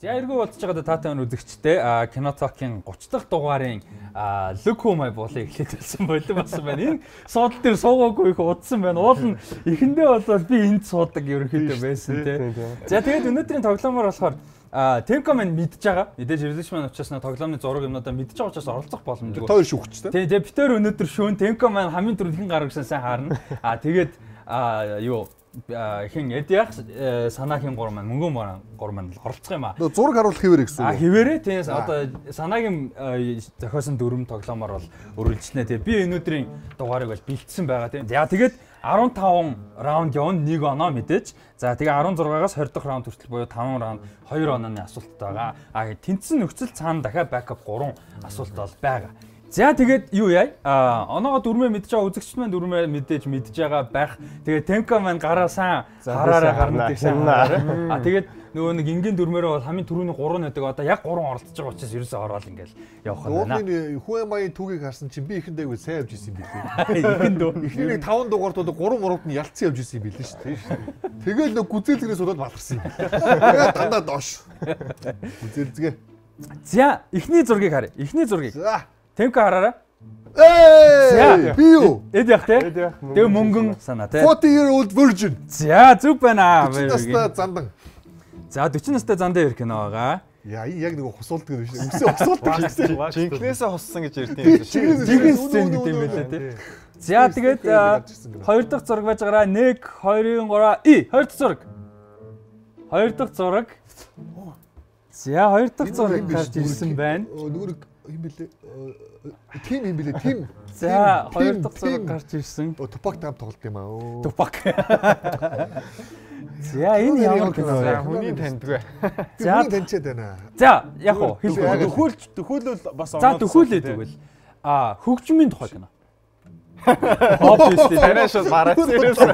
За эргүү болцож байгаа таатай үзэгчтэй Кинотокийн 30 дахь дугаарын Look Who My Bowl-ыг эхлээд хэлсэн болов болсон байна. Энэ суудал дээр суугаагүй их удсан байна. Уул нь эхэндээ бол би энд суудаг ерөнхийдөө байсан тий. За тэгээд өнөөдрийн тоглоомоор болохоор Tencom нь мэдж байгаа. Мэдээж релизмэн учраас тоглоомны зураг юмнуудаа мэдж байгаа учраас оролцох боломжгүй. Хоёр шүүгчтэй. Тий, тэгээд бид тээр өнөөдөр шүүн Tencom маань хамгийн түрүүнд хэн гаргасан сайн харна. Тэгээд юу хин эдях санаагийн гур маань мөнгөн гур маань оролцох юм аа. Зураг харуулах хэвээр гэсэн үг. Хэвээрээ тийм одоо санаагийн зохиосон дүрм тоглоомоор бол үргэлжлэнэ. Тэгээ би өнөөдрийн дугаарыг бол бэлдсэн байгаа тийм. За тэгээд 15 раунд явна, 1 оноо мэдээж. За тэгээ 16-аас 20 дахь раунд хүртэл буюу 5 раунд 2 онооны асуулттай байгаа. Тэнцэн нөхцөл цаана дахиад бэкап 3 асуулт бол байгаа. За тэгээд юу яа? Оноогоо дүрмээ мэдж байгаа үзэгчд маань дүрмээ мэдээж байгаа байх. Тэгээд Tencom маань гараа сайн хараараа гарна гэж санаа. Тэгээд нөгөө нэг энгийн дүрмээрээ бол хамгийн түрүүний 3 нэдэг одоо яг 3 оролцож байгаа учраас ерөөсөө ороод ингээл явах юм байна. Ууны Хуэмагийн түүхийг харсан чинь би ихэндээ сайн явж исэн юм билээ. Ихэндөө эхний 5 дугаард бол 3 мурууд нь ялцсан явж исэн юм билээ шүү дээ. Тэгэл нэг гүзээлгээс болоод баларсан юм. Тэгээд дандаа доош. Гүзээлзгээ. За эхний зургийг харъя. Эхний зургийг. За Tencom хараарай. Би юу? Эд яг те. Тэгээ мөнгөн санаа те. 40-year-old virgin. За зүг байна. 40 настай зандан. За 40 настай зандаа ирэх кино байгаа. Яа яг нэг хусуулдаг юм шиг. Үсээ хусуулдаг гэсэн. Жинкнээсээ хуссан гэж ярьд юм Жинхэнэ шиг. сцен гэдэг юм байлаа те. За тэгээд 2 дахь зураг байж байгаараа 1 2 3 2 дахь зураг. 2 дахь зураг. За 2 дахь зураг гарч ирсэн байна. Нөгөө юм бэлээ. Тим юм бэлээ. Тим. За 2 дахь зураг гарч ирсэн. Тупак таам тоглолт юм аа. Тупак. За энэ ямар кино вэ? Хүний таньдгүй. За таньчаад байна. За яг уу Төхөөлөл бас за төхөөлөө тэгвэл хөгжмийн тухай кино. Obviously танаас бараад ирсэн.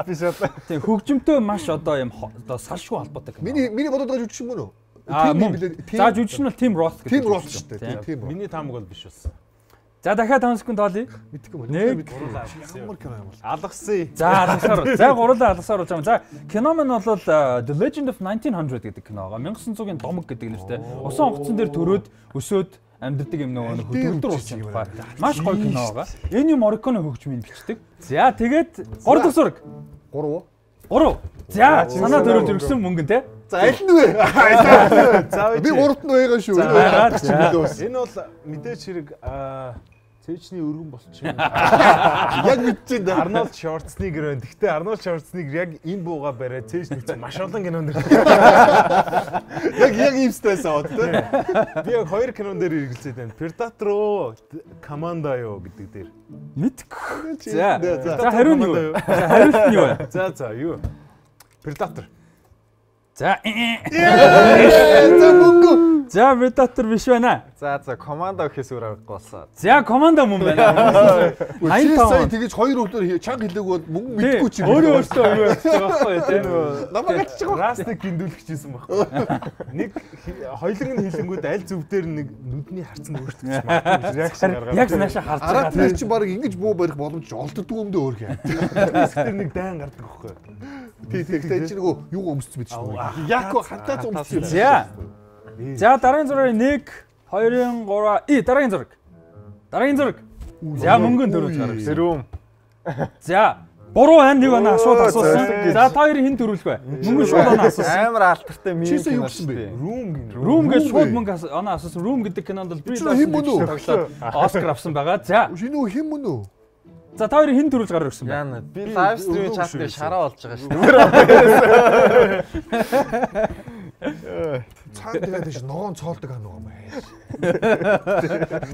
Би шат. Тийм хөгжмөнтэй маш одоо юм одоо салшгүй холбоотой кино. Миний бодоод байгаа жүжигч юм уу? За жүжигч нь бол Tim Roth гэдэг. Tim Roth шүү дээ. Тийм. Миний таамаг бол биш болсон. За дахиад 5 секунд тоолъё. Мэдхгүй байна. Ямар кино юм бол. Алгасан. За алгасаар. За гурлаа алгасаар болж байгаа. За кино маань бол The Legend of 1900 гэдэг кино байгаа. 1900-ийн домог гэдэг нэртэй. Усан онгоцон дээр төрөөд өсөөд амьддаг юм нөгөө хөдөлгөөр уусан тухай. Маш гоё кино байгаа. Энэ Morricone хөгжмийн бичдэг. За тэгээд 3 дахь зураг. 3. За санаа төрөөд өргөсөн мөнгөн те. За аль нь вэ? Би 3-т нь байгаа шүү. Энэ бол мэдээч хэрэг цээжний өргөн болчих юм. Яг мэдчихээн да. Арнольд Шварценеггер байна. Гэхдээ Арнольд Шварценеггер яг энэ бууга бариад цээж нэгцэн маш олон кинонд яг ийм стресс аваад тий. Би яг 2 кинон дээр хэрэгэлцээд байна. Predator, Commando юу гэдэг дээр. Мэдгүй. За хариу нь юу? Хариулт нь юу вэ? За юу? Predator. За мөнгө. За Predator биш байна. За Commando гэхээс өөр аргагүй болсон. За Commando мөн байна. 85 тэгэж 2 өдөр чанга хэлээг бол мөнгө мэдгүй чи. Өөрөө өөртөө юу ярьж байгаа байхгүй тийм. Намайг ачиж байгаа. Растыг гиндүүлчихсэн байхгүй. Нэг хоёлын нь хилэнгүүд аль зүв дээр нэг нүдний харцанд өөрчлөгдөж магадгүй реакшн гаргаад. Яг наашаа харж байгаа. Тэр чи баг ингэж буу барих боломж олддог юм дөө өөр хэ. Тэр нэг дайн гардаг байхгүй. Тэг чи нөгөө юу өмссөн мэт шүү. Яг хатаа өмссөн. За дараагийн зураг 1 2 3 дараагийн зураг. Дараагийн зураг. За мөнгөн төрөж гарах. Сэрүүм. За буруу байна нэг оноо шууд асуусан. За та хоёрын хэн төрүүлэх вэ? Мөнгөн шууд оноо асуусан. Амар алтартай мим кино шүү дээ. Room гэж шууд мөнгө оноо асуусан. Room гэдэг кинонд бол би тоглоод Оскар авсан байгаа. За шинэ хэн мөн үү? За та хоёрын хэн төрүүлж гарах гэсэн бэ? Яна би лайв стрим чаттай шараа болж байгаа шүү дээ. Цаан тэгээд ш ногоон цоолдог аа нөгөө маяг.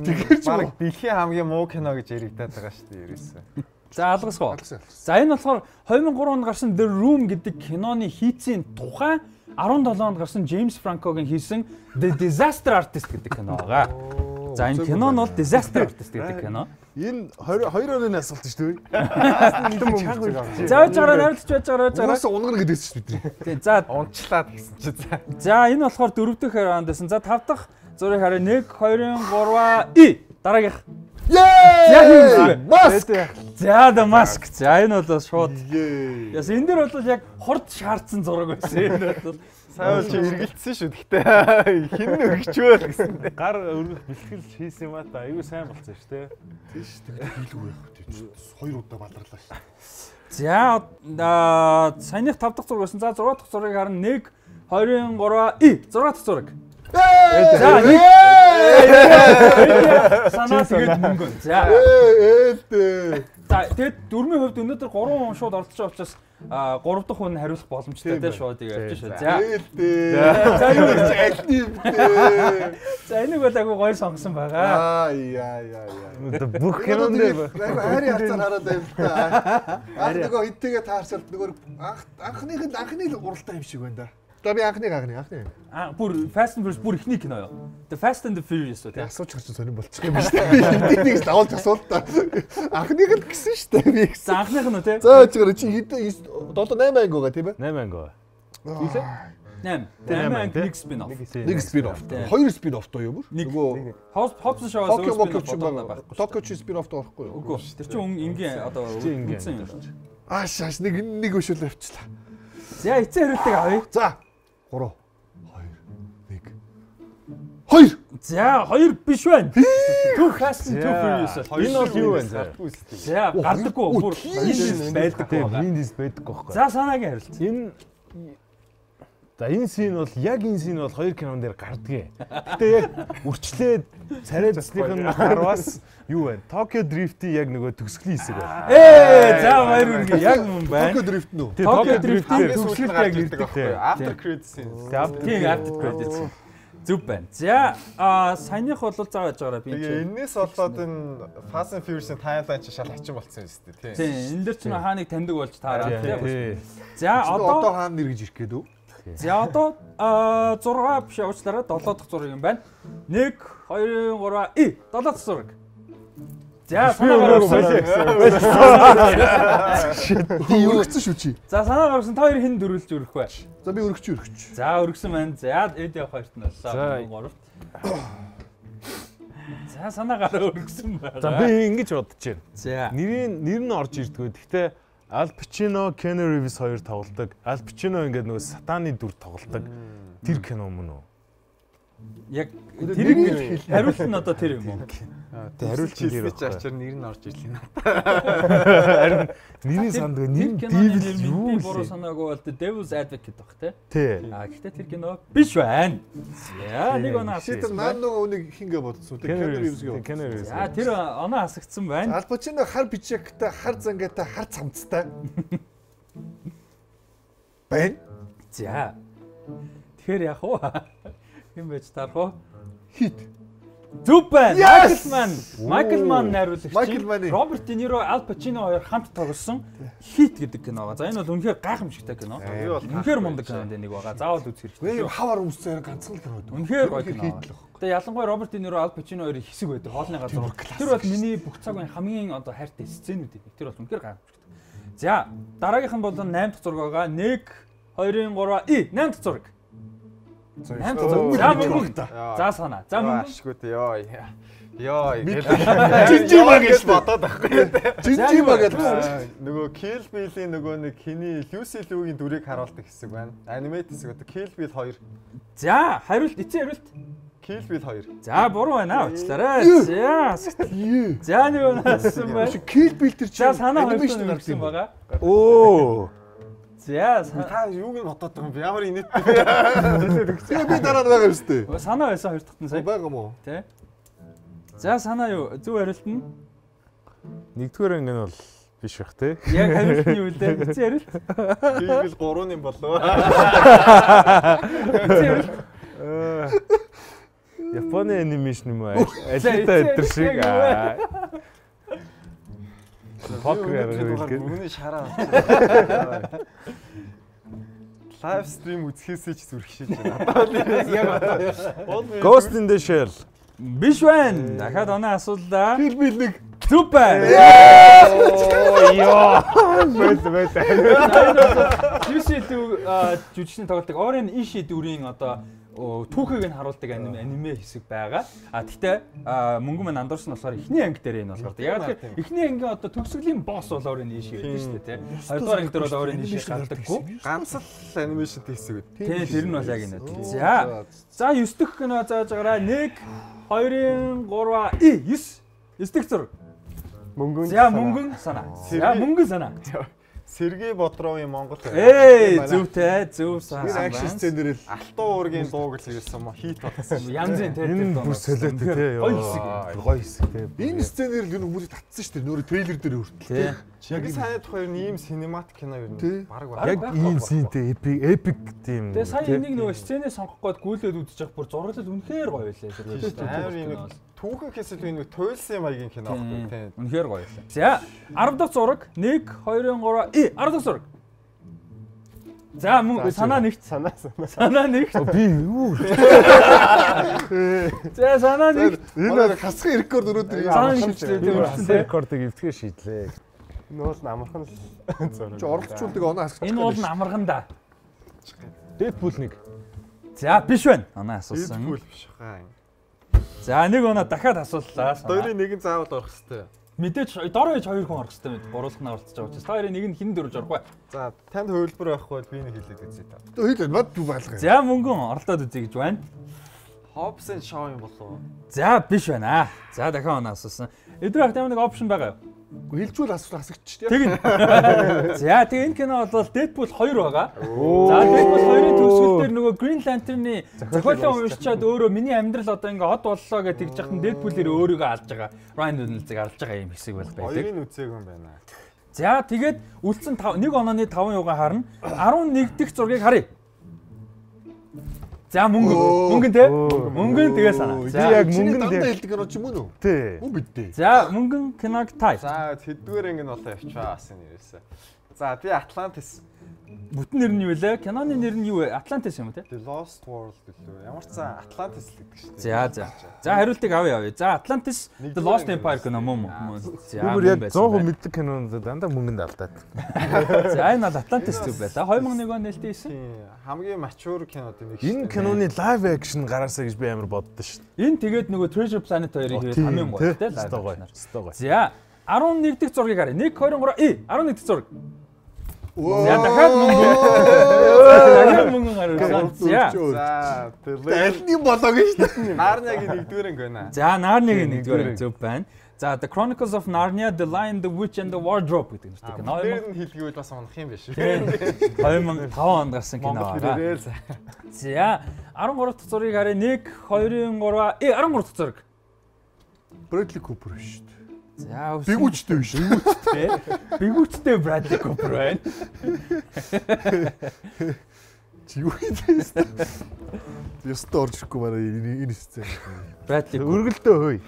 Тэгэхээр ч баг дэлхийн хамгийн муу кино гэж яригадаад байгаа шүү дээ ерөөсөө. За алгасгоо. За энэ болохоор 2003 онд гарсан The Room гэдэг киноны хийцийн тухай 17 онд гарсан James Franco-гийн хийсэн The Disaster Artist гэдэг кино байгаа. За энэ кино нь бол Disaster Artist гэдэг кино. Энэ 2 оны асуулт шүү дээ. За жаараа найрлаж байж байгаа. Угаасаа унгар гэдэгс шүү бидний. Тийм. За унчлаад гэсэн чи за. За энэ болохоор 4 дахь раунд байсан. За 5 дахь зургийг харъя. 1 2 3 дараагийнх. Яа! Маск. За The Mask. За энэ бол шууд. Яс энэ дэр бол яг хурд шаардсан зураг байсан. Энэ бол Сайн чи эргэлдсэн шүү. Гэхдээ хин өргөчөөл гэсэн. Гар өргөх бэлтгэл хийсэн юм аа та. Айгуу сайн болцсон шүү дээ. Тийш тэгээд хийлгүй байх тийм. Хоёр удаа баларлаа шүү. За саяных 5 дахь зураг байсан. За 6 дахь зургийг харна 1 2 3 6 дахь зураг. За санаа тэгээд мөнгө. За тэгээд дөрмийн хувьд өнөөдөр 3 хүн шууд оролцож байгаа учраас 3 дахь хүн хариулах боломжтой тийм шууд явж шүү. За юу за энийг бол агай гоё сонгосон байгаа. Яа. Бүх кинонд хайрын хацаар хараад байв л та. Нөгөө хиттэйгээ таарсалт нөгөө анхны л уралдаан юм шиг байна да. За би анхны. Бүр Fast and Furious бүр ихний кино юу? The Fast and the Furious үү? Асууж гарч сонирн болчих юм байна шүү дээ. Энийг л авалж асуулт та. Анхныг л гисэн шүү дээ би. За анхных нь үү те? За чигээр чи хэд 7 8 анги байгаа тийм ээ? 8 анги. Үлээ? 8 анги нэг спин-офф. Нэг спин-офф. Хоёр спин-офф тоо юу бүр? Нөгөө Hobbs шоуаас спин-офф Токио чи спин-офф тоо байхгүй юу? Үгүй. Тэр чинь энгийн одоо үнсэн юм. Ааш нэг өшөөл авчлаа. За эцэг хариултыг авъя. За 3 2 1 2. За 2 биш байна. Too Fast and Too Furious. Энэ бол юу вэ? За гардаггүй бүр энэ байдаггүй. Виндис байдаггүй байхгүй. За санаагийн хариулт. Энэ син бол яг энэ син бол хоёр кинон дээр гардгийг. Гэтэ яг үрчлээд царай цэцлийнхэн харвас юу вэ? Tokyo Drift-ийн яг нөгөө төгсгөлийн хэсэг байна. За хоёр үргээ яг мөн байна. Tokyo Drift нүү. Tokyo Drift-ийн төгсгөлд яг ирдэг байхгүй. After credits. After credits. Зүг байна. За саяных бол зааж байгаараа би. Тэгээ энэс болоод энэ Fast and Furious-ийн таймлайн чи шал хачин болцсон юм шүү дээ, тийм. Энэ дэр чинь хааныг таньдаг болж таараа тийм. За одоо хаана нэр гэж ирэх гээд үү? За одоо 6 биш уучлаарай 7 дахь зураг юм байна. 1 2 3 7 дахь зураг. За санаагаар өргөцсөн шүү чи. За санаагаар та хоёр хэн дөрвөлж өрөх вэ? За би өргөч. За өргөсөн байна. За эд явах хоёрт нь боллоо. 3-т. За санаагаар өргөсөн байна. За би ингэж бодож байна. За нэр нь орж ирдгүү. Гэхдээ Al Pacino, Keanu Reeves хоёр тоглодог. Al Pacino ингээд нөгөө сатаны дүр тоглодог. Тэр кино мөн үү? Яг тэр хариулт нь одоо тэр юм уу? Тэг хариулт хэлсэн чи ачаар нэр нь орж ирлээ. Харин миний санд нэр Devil юу буруу санаагүй бол Devil's Advocate баг тий. Гэхдээ тэр кино биш байна. Яа нэг оноо шийдэр наа нөгөө үнийг хингээ бодсон тий. Keanu Reeves. За тэр оноо асагдсан байна. Al Pacino хар бичигтэй, хар зангатай, хар цамцтай. Бэн. За. Тэгэхээр яг уу хэн байж тарах уу? Хит. Зүг байна. Michael Mann найруулагч. Роберт Де Ниро, Al Pacino хоёр хамт тоглосон Hit гэдэг кино. За энэ бол үнэхээр гайхамшигтай кино. Үнэхээр мундаг кинонд нэг байгаа. Заавал үзэх хэрэгтэй. Вэ хавар өмссөн ганцхан л кино байдаг. Үнэхээр гоё кино. Тэгээ ялангуяа Роберт Де Ниро, Al Pacino хоёрын хэсэг байдаг. Хоолны газар. Тэр бол миний бүх цаг үеийн хамгийн одоо хайртай сценүүд. Тэр бол үнэхээр гайхамшигтай. За дараагийнх нь бол 8 дахь зураг байгаа. 1 2 3 8 дахь зураг. За санаа. За мөн ашгүй дээ. Йоо. Жинжима гэж бодоод байхгүй. Жинжима гэж. Нөгөө Kill Bill-ийн нөгөө нэг хиний Lucy Liu-гийн дүрийг харуулдаг хэсэг байна. Анимейт хэсэг одоо Kill Bill 2. За хариулт эцэг хариулт. Kill Bill 2. За буруу байна уучлаарай. За нэг унасан байна. Kill Bill тэр чинь анимашн гарсан байгаа. Оо. За та юуг нь бодоод байгаа юм бэ? Ямар инээдтэй. Би дараа нь байгаа юм шүү дээ. Санаа байсан хоёр дахь нь сая. Байгаа мó. Тэ. За санаа юу? Зөв хариулт нь нэгдүгээр анги нь бол биш бах те. Яг хариулт нь юу вэ? Эцэг хариулт. Библ 3-ын болоо. Японы анимашн юм аа. Алита өдр шиг аа. Покер бүгний шараа. Лайв стрим үзэхээсээ ч зүрхшиж байна. Яг одоо. Ghost in the Shell. Биш байна. Дахиад оноо асуулаа. Kill Bill 1. Зүг байна. Йоо. Бэт. Juicy Luke жүжигчний тоглолтыг Oren Ishii дүрийн одоо түүхийг нь харуулдаг аниме хэсэг байгаа. Гэхдээ мөнгө мань андуурсан болохоор эхний анги дээр энэ болохоор. Яг тэгэхээр эхний ангийн одоо төгсгөлийн босс бол Oren Ishii байдаг шүү дээ, тий. Хоёрдугаар анги дээр бол Oren Ishii гаддаггүй. Ганц л анимашн хийсэг үү. Тий, тэр нь бол яг энэ. За 9 дэх кино зааж байгаараа 1 2 3 9 дэх зураг. Мөнгөн. За мөнгөн санаа. За мөнгөн санаа. Сергей Бодровын Монгол. Зөвтэй, зөв санаа. Акшн сценэр л Алтан уургийн дууг л ирсэн юм хит болсон. Янзын тэр бүр солиотой тий. Гоё хэсэг тий. энэ сценэр л хүмүүсийг татсан шүү дээ. Нөрө трейлер дээр хүртэл. Яг сайн тухай ийм синематик кино юу нэ баг баг. Яг ийм синтэй эпик тийм. Тэгээ сая энийг нөгөө сценээ сонгох гээд гүйлээд үзэж явах бүр зураглал үнэхээр гоё байлаа. Амар юм түүхэн хэсэл энэ туйлсан маягийн кино байхгүй тий. Үнэхээр гоё байлаа. За 10 дахь зураг 1 2 3 10 дахь зураг. За мөн санаа нэгт санаа нэгт. Би юу? За санаа нэгт. Энэ хасгын рекорд өнөөдөр Санаа нэгт рекордыг эвтгэж шийдлээ. Энэ бол амархан зураг. чи орлогчулдаг оноо хасгах. Энэ бол амархан да. Дэдпул 1. За биш байна. Анаа асуусан. Дэдпул биш хаа. За нэг оноо дахиад асууллаа. Хоёрын нэг нь заавал орох хэвээр. Мэдээж дор ээж 2 хүн орох хэвээр мэд. Гуруулахнаа оролцож байгаа учраас. Хоёрын нэг нь хин дөрөж орохгүй. За танд хөвлбөр байхгүй бол би нэг хэлээд үзье та. Хөөе бод дүү байлгаа. За мөнгөн оролдоод үзье гэж байна. Hobbs and Shaw юм болов. За биш байна. За дахиад оноо асуусан. Эдрэх ямар нэг опшн байгаа юу? Хэлжүүл хасагч тийм. Тэгнь. За тэгээ энэ кино бол Deadpool 2 байгаа. За Deadpool 2-ын төгсгөл дээр нөгөө Green Lantern-ы зохиолоо уншичаад өөрөө миний амьдрал одоо ингээ од боллоо гэж тэгж яхад Deadpool-ээр өөрийгөө алж байгаа. Ryan Reynolds-ыг алж байгаа юм хэсэг бол байдаг. Хоёрын үзег юм байна. За тэгээд үлдсэн 1 онооны 5 юугаа харна. 11 дэх зургийг харъя. За мөнгөн те. Мөнгөн тэгээ санаа. За яг мөнгөн дандаа хэлдэг кино ч юм уу? Тий. Мөн бидтэй. За мөнгөн киног тай. За хэдгээр анги нь болоо явчаа асан нэрээсээ. За би Atlantis. Бүтэн нэр нь юу вэ? Киноны нэр нь юу вэ? Atlantis юм уу те? The Lost World гэлээ. Ямар ч цаа Atlantis л гэдэг шүү За. дээ. За хариултыг авъя. За Atlantis The Lost Empire кино мөн. За бүр яг 100% мэддэг кинонд дандаа мөнгөнд алдаад. За энэ бол Atlantis зүг байлаа. 2001 он нээлттэй хийсэн. Хамгийн mature кинод нэг. Энэ киноны live action гараасаа гэж би амар боддоо шүү. Энэ тэгээд нөгөө Treasure Planet 2-ыг хийгээд хамгийн гоё те live. За 11 дэх зургийг харъя. 1 2 3 11 дэх зураг. За дахиад мөнгөн гарсан. За Алны болоог шүү дээ. Нарнягийн нэгдүгээр анги байна. За Narnia-гийн нэгдүгээр зөв байна. За The Chronicles of Narnia, The Lion, the Witch and the Wardrobe гэдэг нэртэй кино. Тэр нь хэлгээвэл бас унах юм биш. 2005 онд гарсан кино байгаа. За 13 дахь зургийг харъя. 1 2 3 13 дахь зураг. Bradley Cooper шүү дээ. За Бигүүчтэй биш. Бигүүчтэй Bradley Cooper байна. Чигүүтэй. Ястаа орж ирэхгүй манай энэ сцен. Bradley Өргөлдөө хөөе.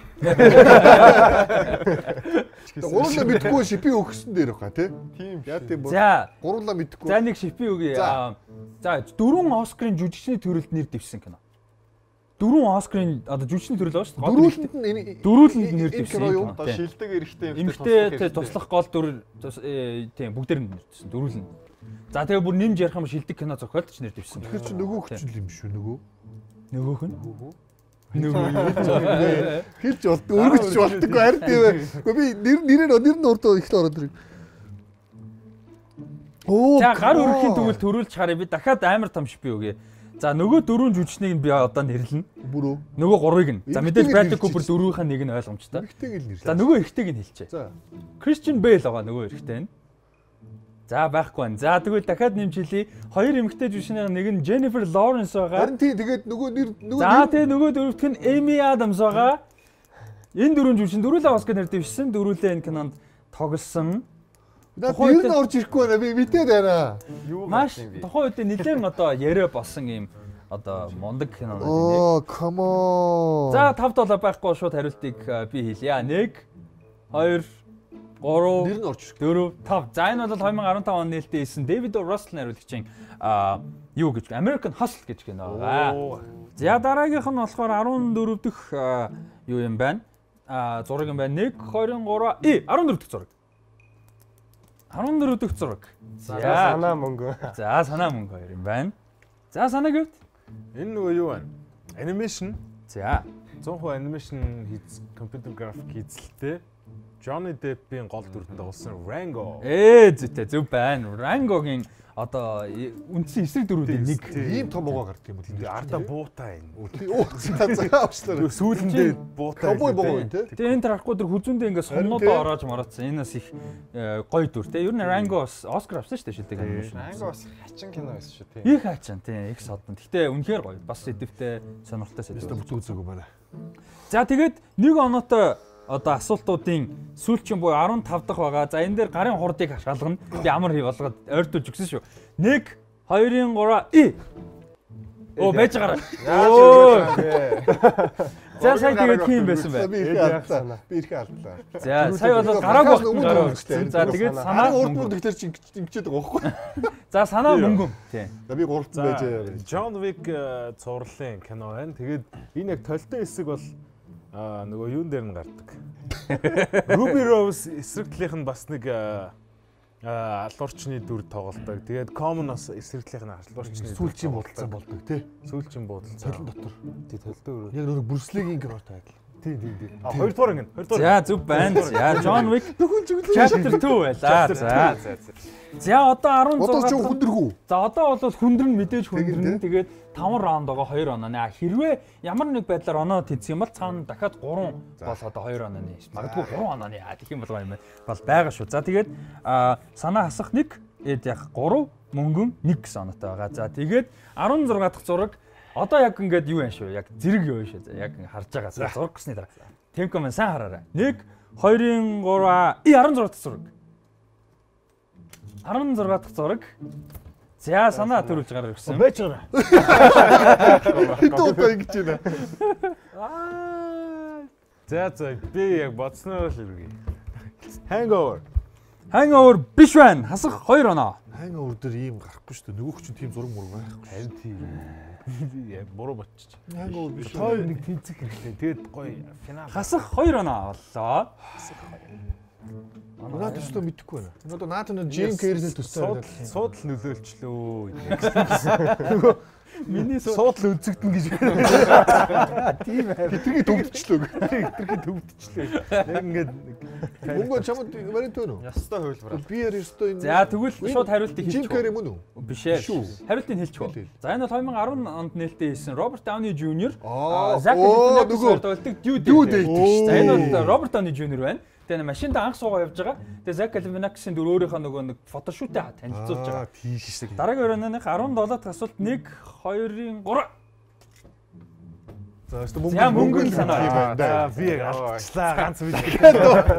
Гурлаа мэдгүй шипи өгсөн дээр баха тий. Тийм. Яа тийм бол. За Гурлаа мэдгүй. За нэг шипи үгүй. За 4 Оскарын жүжигчний төрөлд нэр дэвшсэн кино. 4 Оскарын одоо жүжигчний төрөл байгаа шүү дээ. Дөрүүлэнд нэр дэвшсэн кино. Одоо шилдэг эрэгтэй эмэгтэй туслах гол дүр тийм бүгдээр нь нэр дэвшсэн. Дөрүүлэнд. За тэгээ бүр нэмж ярих юм шилдэг кино зохиолч нэр дэвшсэн. Тэр чинь нөгөө хүчил юм шүү нөгөө. Нөгөөх нь хэлж болдог өргөж болдоггүй харин тийм ээ. Гэхдээ би нэр нь урд ихт ороод ирэх. Оо. За гар өрөхийн тэгвэл төрүүлж харъя. Би дахиад амар том шипи өгье. За нөгөө 4 жүжигчнийг би одоо нэрлэнэ. Бүрөө. Нөгөө 3-ыг нь. За мэдээж Bradley Cooper 4-ийн нэг нь ойлгомжтой. Эрэгтэйг л нэрлээ. За нөгөө эрэгтэйг нь хэлчихье. За. Christian Bale байгаа нөгөө эрэгтэй нь. За байхгүй байна. За тэгвэл дахиад нэмж хэлье. 2 эмэгтэй жүжигчний нэг нь Jennifer Lawrence байгаа. Харин тий тэгээд нөгөө нэр За тэгээ нөгөө дөрөвт нь Amy Adams байгаа. Энэ 4 жүжигчин дөрүүлээ Оскар нэр дэвшсэн. Дөрүүлээ энэ кинонд тоглосон. Тэр нь орж ирэхгүй байна. Би мэдээд байна. Маш тухайн үед нэлээд одоо яриа болсон юм одоо мундаг кинонууд нэг. Оо, come on. За 5 байхгүй шууд хариултыг би хэлье. 1 2 3 нэр нь орж ирэхгүй. 4 5. За энэ бол 2015 он нээлттэй хийсэн David O. Russell хариулагчийн юу гэж American Hustle гэж кино байгаа. За дараагийнх нь болохоор 14 дэх юу юм байна? зураг юм байна. 1 2 3 14 дахь зураг. 14 дахь зураг. За санаа мөнгө. За санаа мөнгө 2 юм байна. За санаа гэвт. Энэ нөгөө юу вэ? Анимашн. За 100% анимашн хийц компьютер график хийцэлтэй. Johnny Depp-ийн гол дүртэнд болсон Rango. зүйтэй зөв байна. Rango-гийн одоо үндсэн эсрэг дүрүүдийн нэг. Ийм том угаа гардаг юм уу? Тэгээ ардаа буутаа энэ. За авчлаа. Сүүлэндээ буутаа. Ковбой богоо юм те. Тэгээ энэ тарахгүй дөр хүзүүндээ ингээд сумнуудаа ороож мараадсан. Энэс их гоё дүр те. Ер нь Rango Оскар авсан шүү дээ шилдэг анимашн. Rango бас хачин кино байсан шүү тийм. Их хачин тийм их содон. Гэтэ үнэхээр гоё. Бас сэдвтэй сонирхолтой сэдв. Бүтэн үзээгүй байна. За тэгээд нэг оноотой одоо асуултуудын сүүлчийн буюу 15 дахь байгаа. За энэ дээр гарын хурдыг хашаалгана. Би амар хий болгоод ойртуулж өгсөн шүү. 1 2 3 Оо байж гараа. За сая тэгээд тийм байсан бай. Би их алдлаа. За сая бол гараагүй гараа өгсөн. За тэгээд санаа урд мөр дэхтэр чи ингэчээд байгаа байхгүй. За санаа мөнгөн. Тийм. За би гурвалдан байж. John Wick цувралын кино байна. Тэгээд энэ яг толтой хэсэг бол нөгөө юун дээр нь гардаг. Ruby Rose эсрэг талийнх нь бас нэг алуурчны дүр тоглолдог. Тэгээд Common бас эсрэг талийнх нь алуурчны сүүлчийн бодолцоо болдог тий. Сүүлчийн бодолцоо. Толон дотор. Тий толтой өрөө. Яг нөгөө Брюслигийн кинотой адил. Тий. Хоёрдугаар ингэ. За зөв байна. За John Wick Chapter 2 байлаа. За одоо 16. Одоо ч хүндэрхүү. За одоо бол хүндэр нь мэдээж хүндэрнэ. Тэгээд 5 раунд байгаа 2 онооны. Хэрвээ ямар нэг байдлаар оноо тэнцэх юм бол цаана дахиад 3 бол одоо 2 онооны. Магадгүй 3 онооны. Тэгэх юм болгоо юм бол байгаа шүү. За тэгээд санаа хасах 1 яг 3 мөнгөн 1 гэсэн оноотой байгаа. За тэгээд 16 дахь зураг одоо яг ингээд юу юм шүү. Яг зэрэг юу юм шүү. Яг харж байгаа. Зураг гэсний дараа. Темко маань сайн хараарай. 1 2 3 16 дахь зураг. 16 дахь зураг. За санаа төрүүлж гараа ирсэн. Байж байгаа. Хэдэн удаа ингэж байна. За би яг бодсноор л иргий. Hangover. Hangover биш байна. Хасах 2 оноо. Hangover дээр ийм гарахгүй шүү дээ. Нөгөөх чинь тийм зураг мураг байхгүй. Харин тийм. Яг буруу ботчих. Hangover биш. Той нэг тэнцэх хэрэгтэй. Тэгээд гоё финал. Хасах 2 оноо боллоо. Надад төстөө мэдэхгүй байна. Одоо наатан Jim Carrey-ийн төстөө суудал нөлөөлчлөө. Миний суудал үзэгдэн гэж. тийм ээ. Хитрхи төвдчихлөө. Хитрхи төвдчихлөө. Яг ингээд мөнгө чамд вариант байна уу? Ястай хувилбар. Би яар ёстой энэ. За тэгвэл шууд хариултыг Jim хэлчих. Carrey мөн үү? Биш ээ. Хариултыг хэлчих. За энэ бол 2010 онд нээлттэй хийсэн Роберт Дауни Jr. Zac Efron тоглолтог Due Date шүү дээ. За энэ бол Роберт Дауни Jr. байна. Тэгээ машинд анх суугаа явж байгаа. Тэгээ Zac Efron-ийн дүр өөрийнхөө нөгөө нэг фотошүүтэд танилцуулж байгаа. Тийм шиг. Дараагийн өрөөных 17 дахь асуулт 1 2 3 За За мөнгөн санаа. за би яг алчлаа ганц бид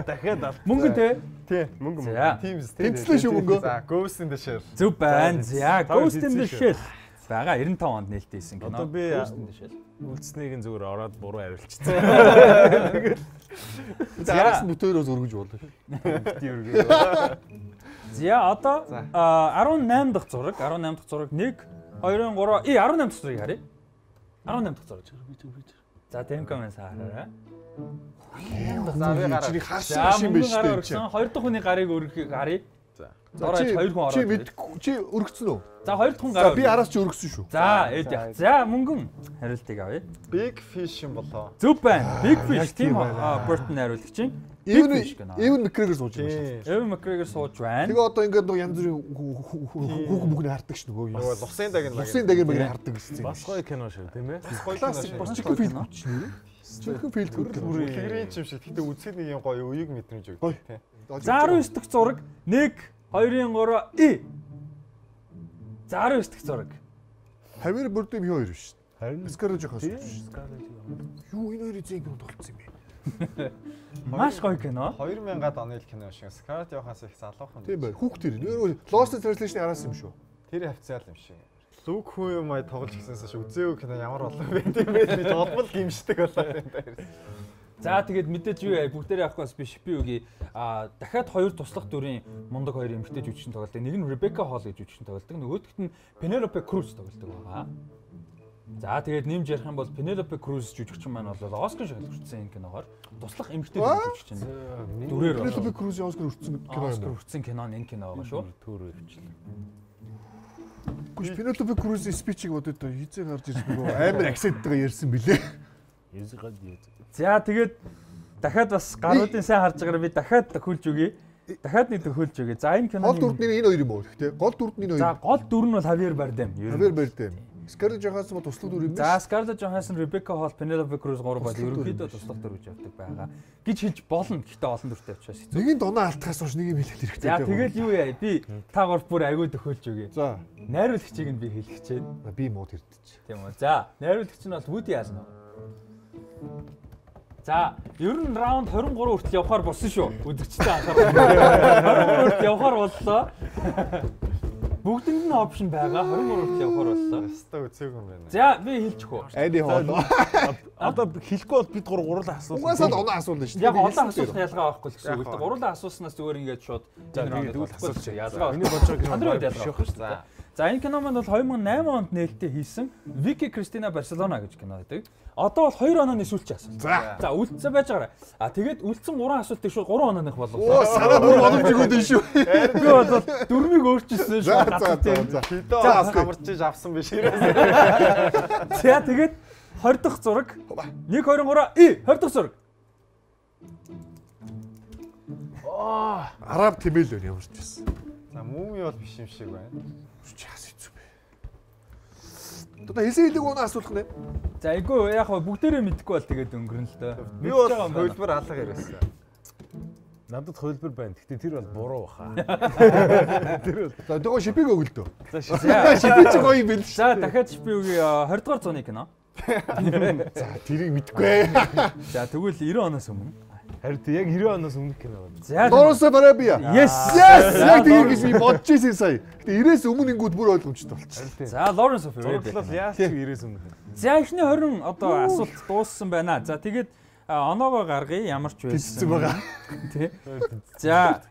дахиад ал. Мөнгөн те. Тий, мөнгө За. мөнгө. Teams тий. Тэнцлээ шүү мөнгөө. За, Ghost in the Shell. Зөв байна. За Ghost in the хэлсэн Shell. Бага 95 онд нээлттэй хийсэн кино. Одоо би Ghost in the Shell. үлдснийг нь зүгээр ороод буруу хариулчихсан. За араас нь бүтээрөөс өргөж болно. За одоо 18 дахь зураг 1 2 3 18 дахь зургийг харъя. 18 дахь зураг. За Темко маань саараа. За, би гараа. Чиний За харсан шин биш мөнгө үү чи. 2 дахь хүний гарыг өргөхийг харъя. За Дорож 2 хүн ороод. чи мэдгүй чи өргөцсөн үү? За 2 дахь хүн За гараа. би араас чи өргөсөн шүү. За эд яах. За мөнгөн хариултыг авъя. Big Fish юм болоо. Зөв байна. Big Fish яг тийм тийм байна. Burton хариулагч чинь. Even McGregor сууж байгаа шүү. Ewan McGregor сууж байна. Тэгээ одоо ингээд нөгөө янз бүрийн хүүхэн бүхний хардаг ш нөгөө. Нөгөө Лусын даг нь Лусын даг мэг хардаг гэсэн. Бас гоё кино шүү, тийм ээ. Классик бас чихэн фильм үчнэ. Чихэн фильм төрөл. Тэгрийн юм шиг. Гэтэ үзэхэд нэг юм гоё үеиг мэдрэмж өгдөг тий. За 19 дахь зураг 1 2 3 За 19 дахь зураг. Хавир бүрдэм юу хоёр биш. Харин Scarlett Johansson. Scarlett. Юу энэ хоёрын зэн кино тоглолцсон юм бэ? Маш гоё кино. 2000-ад оны кино шиг. Scarlett Johansson их залуухан. Тийм бай. Хүүхдэр. Нөр Lost in Translation араас юм шүү. Тэр хавцаал юм шиг. Лук хүн юм тоглож гисэнээс үзээгүй кино ямар болов бэ тийм ээ. Би толбол гимшдэг болоод энэ дээр. За тэгээд мэдээж юу яа бүгдээрээ авахгүйс биш би үгүй дахиад 2 туслах дүрийн мундаг 2 эмэгтэй жүжигчин тоглолдог. Нэг нь Rebecca Hall гэж жүжигчин тоглолдог. Нөгөөдөгт нь Penelope Cruz тоглолдог байгаа. За тэгээд нэмж ярих юм бол Penelope Cruz жүжигчин маань бол Оскар шагнал хүртсэн энэ киногоор туслах эмэгтэй жүжигчин. Дүрээр Penelope Cruz Оскар хүртсэн кино юм. Оскар хүртсэн кино нь энэ кино байгаа шүү. Төөрөө хвчлээ. Гүш Penelope Cruz-ийн спичийг бодоод хизээ гарч ирж нөгөө амар акценттайгаа ярьсан билээ. Язгад. За тэгээд дахиад бас гаруудын сайн харж байгаараа би дахиад төхүүлж өгье. Дахиад нэг төхүүлж өгье. За энэ кино Гол дүрд нь энэ хоёр юм уу гэхдээ гол дүрд нь энэ хоёр. За гол дүр нь бол Javier Bardem. Javier Bardem. Scarlett Johansson бол туслах дүр юм биш. За Scarlett Johansson, Rebecca Hall, Penelope Cruz 3 бол ерөнхийдөө туслах дүр гэж явдаг байгаа. Гэж хэлж болно. Гэхдээ олон дүртэй учраас хэцүү. Нэгийн дунаа алтахаас хойш нэг юм хэлэх хэрэгтэй. За тэгэл юу яа би та гол бүр аягүй төхөөлж өгье. За Найруулагчийг нь би хэлэх гэж байна. би мууд хэрдэж. Тийм үү. За найруулагч нь бол Woody Allen. За ер нь раунд 23 хүртэл явахаар болсон шүү. Үзэгчтэй анхаарал. 23 хүртэл явахаар боллоо. Бүгдэнд нь опшн байгаа. 23 хүртэл явахаар боллоо. Яста үзээгүй юм байна. За би хэлчих үү. Айди хоолоо. Одоо хэлэхгүй бол бид гурлаа асуулт. Угаасаа оноо асуулна шүү. Яг олон асуулт ялгаа байхгүй л гэсэн үг. Гурлаа асууснаас зүгээр ингээд шууд тэгвэл асууж ялгаа. Миний бодож байгаа Андрей ялгаа шүү дээ. За энэ кино маань бол 2008 онд нээлттэй хийсэн Vicky Cristina Barcelona гэж кино байдаг. Одоо бол 2 онооны сүүлчийн асуулт. За үлдсэн байж байгаа. А тэгээд үлдсэн 3 асуултыг шууд 3 онооных болголоо. Оо санаа бүр боломжгүй дээ шүү. Би бол дөрмийг өөрчилсөн шүү. За. Хидөө бас хамарчиж авсан биш ирээс. За тэгээд 20 дахь зураг 1 23 20 дахь зураг. Араб тэмэл өөр ямарч байсан. За муми бол биш юм шиг байна. Чаас хэцүү бэ. Одоо хэлсэн хэлэг унаа асуулах нэ. За айгүй яг бүгдээрээ мэдхгүй бол тэгээд өнгөрнө л дөө. Би бол хөлбөр алга яриасан. Надад хөлбөр байна. Гэхдээ тэр бол буруу баха. За нөгөө шипиг өгөлдөө. За Шипиг ч гоё юм бэл. За дахиад би үгүй 20 дугаар зууны кино. За тэрийг мэдгүй. За тэгвэл 90 оноос өмнө. Харин яг 90 оноос өмнөх кино байна. За Lawrence of Arabia. Yes. Яг тийм гэж би бодож ирсэн сая. Гэтэ 90-ээс өмнө ингүүд бүр ойлгомжтой болчихсон. За Lawrence of Arabia. Зураглал яаж ч 90-ээс өмнөх. За эхний 20 одоо асуулт дууссан байна. За тэгээд оноогоо гаргая ямар ч Тэлцсэн байсан. байгаа. Тий. За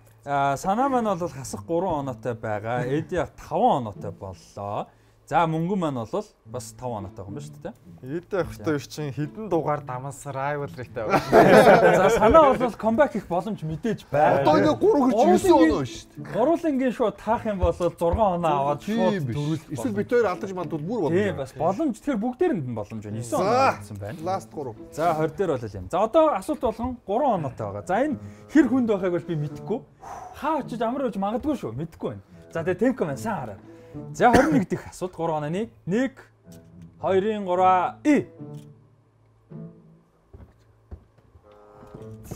санаа маань бол хасах 3 оноотой байгаа. Эди 5 оноотой боллоо. За мөнгө маань бол бас 5 оноотой юм ба шүү дээ. Эдэ охтой чинь хідэн дугаар дамаас rivalry-тай байна. За санаа бол comeback хийх боломж мэдээж байна. Одоо ингээ 3 гэж 9 оноо шүү дээ. Гуруулангийн шууд таах юм бол 6 оноо аваад шууд дөрүүл. Эсвэл бид хоёр алдаж мандууд бүр болно. Тийм бас боломж. Тэгэхээр бүгдээрэнд нь боломж байна. 9 оноо гэсэн байна. Last 3. За 20 дээр бол юм. За одоо асуулт болгон 3 оноотой байгаа. За энэ хэр хүнд байхайг бол би мэдэхгүй. Хаа очиж амар байж магадгүй шүү. Мэдэхгүй байна. За тэгээ темп маань сайн хараа. За 21 дэх асуулт 3 онооны 1 2-ын 3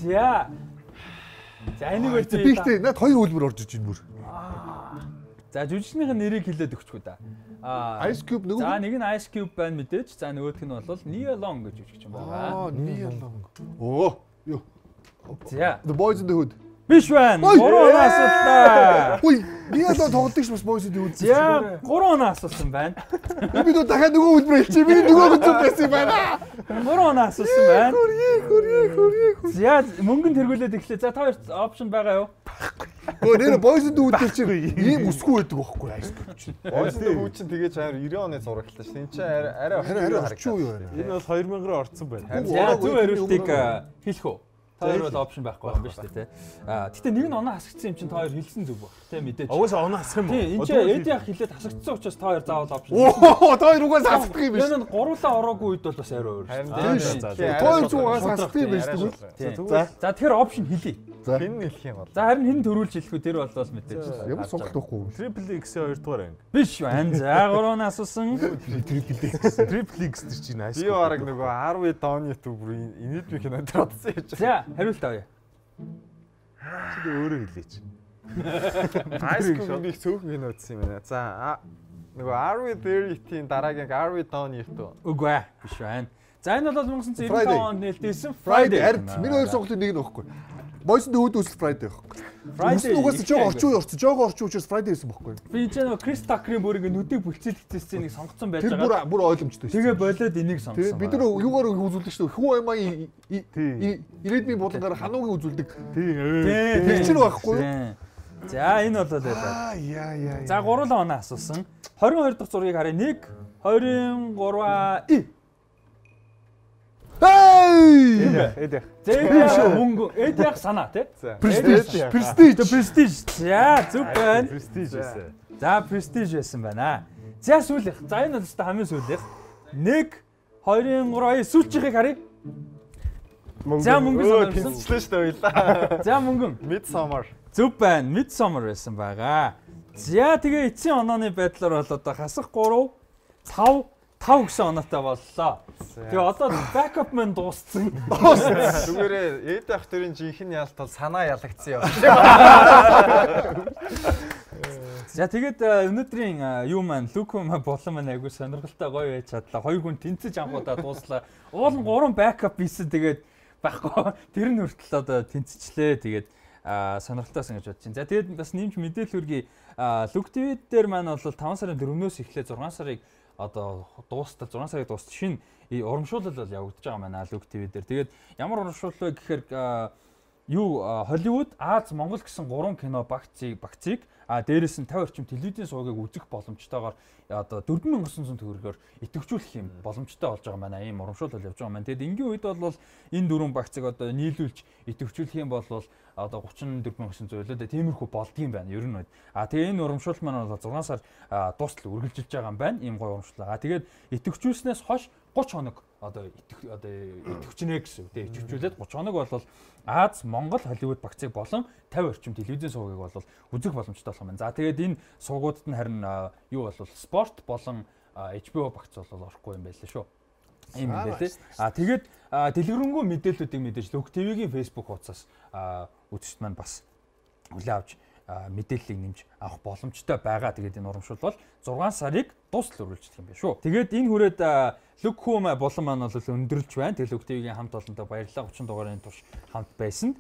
За. За энийг бол Би ихтэй над 2 хөлбөр орж иж байна бүр. За жүжигчнийхэн нэрийг хэлээд өгчихгүй да. Ice Cube нөгөө. За нэг нь Ice Cube байна мэдээж. За нөгөөх нь бол Nia Long гэж жүжигчин байгаа. Nia Long. Оо. Юу. За. The Boys in the Hood. Биш байна. 3 оноо асуултаа. Үй, Nia Long тоглодог ш бас Boys in the Hood. За 3 оноо асуусан байна. Би дөө дахиад нөгөө хөлбөр хэлчихээ. Би нөгөө хөлбөр байсан юм байна. 3 оноо асуусан байна. Хөрье. За мөнгөнд тэргүүлээд эхлэе. За та хоёр опшн байгаа юу? Өө нэр Boys in the Hood дээр чинь ийм өсгүй байдаг байхгүй Ice Cube чинь. Ойсны хүү чинь тэгэж амар 90 оны зураглалаа ш. Энд чинь арай орчин үе байна. Энэ бол 2000-аар орцсон байна. За зөв хариултыг хэлэх үү? Та хоёр бол опшн байхгүй юм байна шүү дээ, тий. Гэтэ нэг нь оноо хасагдсан юм чинь та хоёр хэлсэн зүг баг. Тэ мэдээж. Угаасаа оноо хасах юм уу? Тий, энэ чинь эд яг хэлээд хасагдсан учраас та хоёр заавал опшн. Оо, та хоёр угаас хасдаг юм биш. Энэ гуруулаа ороогүй үед бол бас арай өөр шүү дээ. Хоёр зугаас хасдаг юм биш тэгвэл. За тэгэхээр опшн хэлье. Хэн хэлэх юм бол. За харин хэн төрүүлж хэлэх үү? Тэр бол мэдээж. Ямар сонголт байхгүй. Triple X-ийн 2 дугаар анги. Биш байна. За 3 оноо асуусан. Triple X тэр чинь Ice Би бараг нөгөө 10 дооны төв инээд би кинонд бодсон юм чи. За хариулт авъя. Чи өөрөө хэлээч. Ice Cube их цөөхөн кино үзсэн юм байна. За нөгөө Are We There-ийн дараагийн Are We Done ito. Үгүй ээ, биш байна. За энэ бол 1995 онд нээлттэйсэн Friday. Миний хоёр сонголтын нэг нь байхгүй. Boys in the Hood үсэл Friday байхгүй. Friday угаас жоо орчин үе орсон. Жоого орчин учраас Friday байсан байхгүй. Би ч нөгөө Chris Tucker-ийн бүр ингэ нүдийг бүлцэлгэсэн сценийг сонгоцсон байж Тэр байгаа. бүр ойлгомжтой шүү. Тэгээ болоод энийг сонгосон. Бид нар юугаар үзүүлдэг шүү. Хүү аймаа ирээдүйн булангаар хануугийн үзүүлдэг. Тэр чинь байхгүй юу? За энэ бол байлаа. Яа. За 3 оноо асуусан. 22 дахь зургийг харъя. 1 23 Эдэх. Зэвэ мөнгө эдэх санаа тий. Prestige. За зүг байна. Prestige байсан. За prestige байсан байна. За сүүлийнх. За энэ бол хамгийн сүүлийнх. 1 2 3 сүүлчийнхийг харъя. За мөнгө санаа байсан. Тэнцлээ шүү дээ хоёлаа. За мөнгөн. Midsummer. Зүг байна. Midsummer байсан байгаа. За тэгээ эцсийн онооны байдлаар бол одоо хасах 3 5 гэсэн оноотой боллоо. Тэгээ одоо backup маань дууссан. Зүгээрээ эд ах төрийн жинхэнэ ялт бол санаа ялагдсан юм. За тэгээд өнөөдрийн юу маань Луко маань болон маань айгүй сонирхолтой гоё байж чадлаа. Хоёр хүн тэнцэж анхудаа дууслаа. Уул нь 3 backup хийсэн тэгээд байхгүй. Тэр нь хүртэл одоо тэнцчлээ. Тэгээд сонирхолтойсэн гэж бодож байна. За тэгээд бас нэмж мэдээлэл хүргэе. Лук ТV дээр маань бол 5 сарын 4-өөс эхлээ 6 сарыг одоо дуустал 6 сарыг дуустал шинэ урамшуулал бол явагдаж байгаа маань Лук ТV дээр. Тэгээд ямар урамшуулал вэ гэхээр Холливуд, Аз, Монгол гэсэн 3 кино багцыг дээрээс нь 50 орчим телевизийн сувгийг үзэх боломжтойгоор одоо 4900 төгрөгөөр идэвхжүүлэх юм боломжтой болж байгаа маань ийм урамшуулал явж байгаа маань. Тэгэд энгийн үед бол энэ 4 багцыг одоо нийлүүлж идэвхжүүлэх юм бол одоо 34900 лөө тиймэрхүү болдгийм байна ер нь үед. Тэгээ энэ урамшуулал маань бол 6 сар дуустал үргэлжилж байгаа юм байна. Ийм гоё урамшуулал. Тэгээд идэвхжүүлснээс хойш 30 хоног одоо идэвхжнэ гэсэн үг. Тэгээ идэвхжүүлээд 30 хоног бол Аз, Монгол, Холливуд багцыг болон 50 орчим телевизийн сувгийг бол үзэх боломжтой болох юм байна. За тэгээд энэ сувгуудад нь харин юу бол спорт болон HBO багц бол орохгүй юм байлаа шүү. Ийм юм байлээ. Тэгээд дэлгэрэнгүй мэдээллүүдийг мэдээж Лук ТV-гийн Facebook хуудасаас үзэгчд маань бас хүлээн авч мэдээллийг нэмж авах боломжтой байгаа. Тэгээд энэ урамшуул бол 6 сарыг дуустал үргэлжлэх юм байна шүү. Тэгээд энэ хүрээд Лук Хүм болон маань бол өндөрлж байна. Тэгээд Лук ТV-гийн хамт олонтой баярлалаа. 30 дугаарын турш хамт байсан.